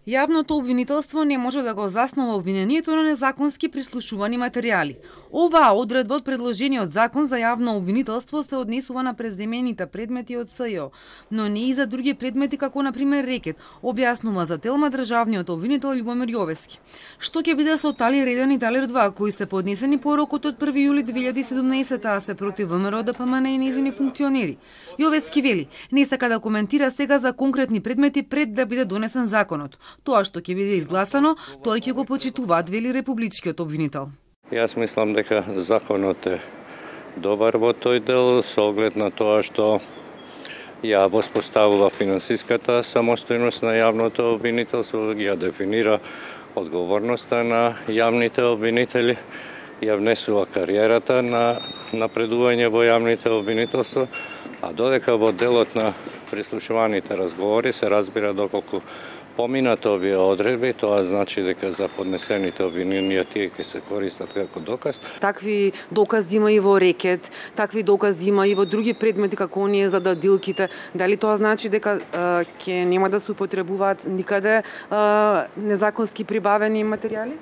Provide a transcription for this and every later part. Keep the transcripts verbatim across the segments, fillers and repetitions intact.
Јавното обвинителство не може да го заснова обвинението на незаконски прислушувани материјали. Оваа одредба од предложениот закон за јавно обвинителство се однесува на преземените предмети од СЈО, но не и за други предмети како на пример рекет, објаснува за Телма државниот обвинител Љубомир Јовески. Што ќе биде со Талир еден и Талир два, кои се поднесени по рокот од први јули две илјади и седумнаесета, а се против ВМРО Д П М Н и нејзини функционери? Јовески вели, не сака да коментира сега за конкретни предмети пред да биде донесен законот. Тоа што ќе биде изгласано, тој ќе го почитуваат, вели републичкиот обвинител. Јас мислам дека законот е добар во тој дел со оглед на тоа што ја воспоставува финансиската самостојност на јавното обвинителство, ја дефинира одговорноста на јавните обвинители, ја внесува кариерата на напредување во јавните обвинителства, а додека во делот на прислушуваните разговори се разбира доколку поминат овие одредби, тоа значи дека за поднесените обвиненија тие ќе се користат како доказ. Такви докази има и во рекет, такви докази има и во други предмети како оние за дадилките. Дали тоа значи дека ќе нема да се употребуваат никаде а, незаконски прибавени материјали?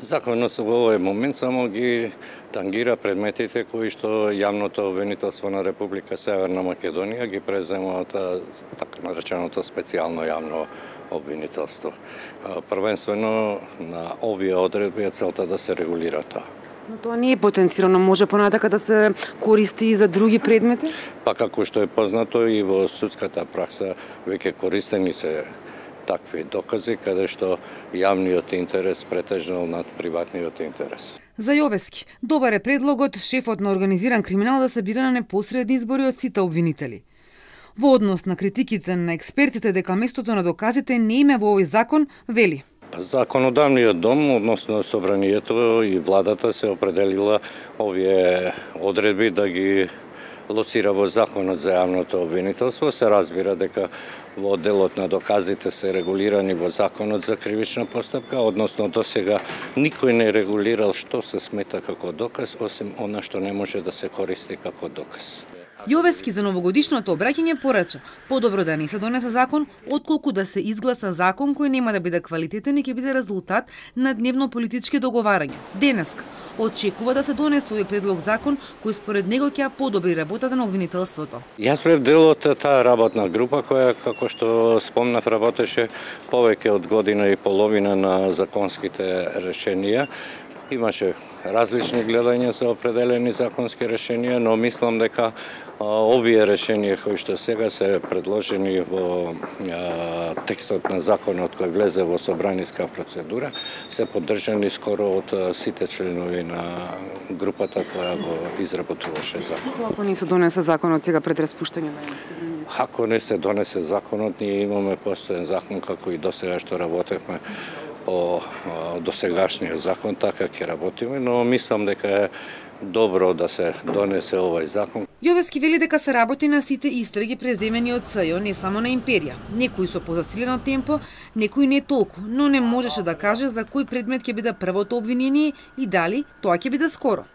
Законот во овој момент само ги тангира предметите кои што јавното обвинителство на Република Северна Македонија ги презема од така нареченото специјално јавно обвинителство. Првенствено на овие одредби е целта да се регулира тоа. Но тоа не е потенцирано, може понатака да се користи и за други предмети? Па како што е познато и во судската пракса веќе користени се такви докази каде што јавниот интерес претежнал над приватниот интерес. За Јовески, добар е предлогот шефот на организиран криминал да се бира на непосредни избори од сите обвинители. Во однос на критиките на експертите дека местото на доказите не име во овој закон, вели. Законодавниот дом, односно собранието и владата се определила овие одредби да ги лоцира во законот за јавното обвинителство. Се разбира дека во делот на доказите се регулирани во законот за кривична постапка, односно досега никој не регулирал што се смета како доказ, осим она што не може да се користи како доказ. Јовески за новогодишното обраќање порача подобро да не се донесе закон, отколку да се изгласа закон кој нема да биде квалитетен и ќе биде резултат на дневно политички договарања. Денеска очекува да се донесе овој предлог закон кој според него ќе подобри работата на обвинителството. Јас бев дел од таа работна група која, како што спомнав, работеше повеќе од година и половина на законските решенија. Имаше различни гледања за определени законски решенија, но мислам дека а, овие решенија кои што сега се предложени во а, текстот на законот кој влезе во собраниска процедура, се поддржани скоро од а, сите членови на групата која го изработуваше закон. Што ако не се донесе законот сега пред распуштање на Ако не се донесе законот, ние имаме постојан закон како и досега што работевме по досегашниот закон, така ќе работиме, но мислам дека е добро да се донесе овој закон. Јовески вели дека се работи на сите истраги преземени од СЈО, не само на империја. Некои со позасилено темпо, некои не толку, но не можеше да каже за кој предмет ќе биде првото обвинение и дали тоа ќе биде скоро.